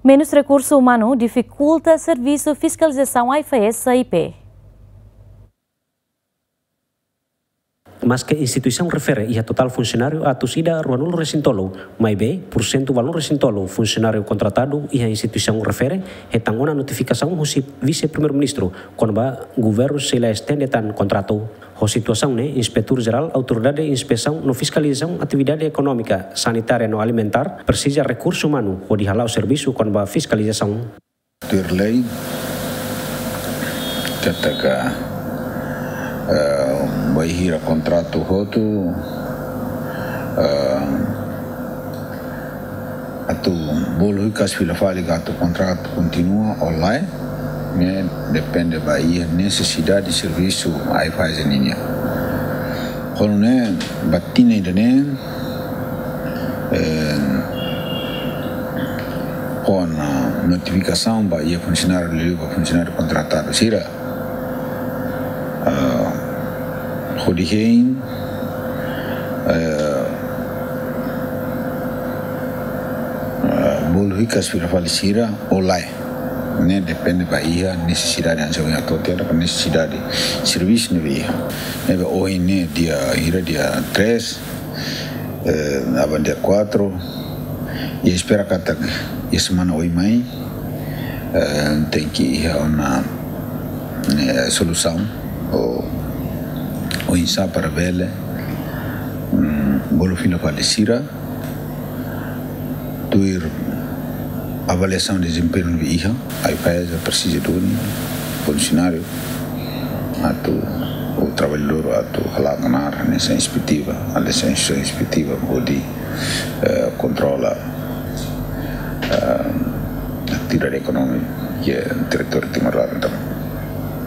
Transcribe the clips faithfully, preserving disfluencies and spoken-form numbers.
Menus rekursu umanu difikulta servisu fiskalizasaun AIFAESA I P. Maske instituisaun refere iha totál funsionáriu atus ida ruanulu resin tolu, maibé pursentu valun resin tolu funsionáriu kontratadu iha instituisaun refere hetan ona notifikasaun husi Vise-Primeiru-Ministru kona-ba governu sei la estende tan kontratu. Ho situasaun ne'e, Inspetór Jerál Autoridade Inspesaun no Fiskalizasaun Atividade Ekonómika, Sanitária no Alimentár presiza rekursu umanu hodi hala'o servisu kona-ba fiskalizasaun. Tuir lei, katak, eh, bainhira kontratu hotu, eh, atu bolu hikas fila fali katak kontratu kontinua ou lae, ne'e depende ba iha nesesidade servisu AIFAESA nian. Ho nune'e, ba tinan ida-ne'e, eh, kona notifikasaun ba iha funsionáriu liuliu ba funsionáriu kontratadu sira, ah, hodi hein, eh, eh, bolu hikas fila fali sira ou lae. Ne'e depende ba iha nesesidade, hanesan ohin ha'u hatete, nesesidade servisu ne'ebé iha. Ne'ebé ohin ne'e dia, hira dia três, eh, aban dia quatro, i espera katak iha semana oin mai, eh, tenke iha ona, eh, solusaun ou, oinsá para bele, mm, bolu fila fali sira, tuir avaliasaun dezempeñu ne'ebé iha, AIFAESA presiza duni funsionáriu atu, ou traballadór atu hala'o knaar hanesan inspetiva, hanesan inspetiva hodi, eh, kontrola, eh, atividade ekonómika iha territóriu Timor-Leste.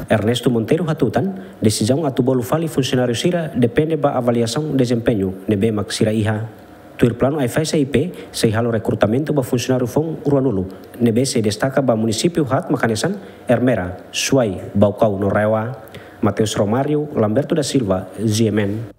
Ernesto Monteiro hatutan, desizaun atu bolu fali funsionáriu sira depende ba avaliasaun dezempeñu ne'ebé mak sira iha. Tuir planu AIFAESA I P sei halo rekrutamentu ba funsionáriu foun ruanulu, ne'ebé sei destaka ba munisípiu haat mak hanesan Ermera, Suai, Baucau no RAEOA. Mateus Romário, Lamberto da Silva, G M N.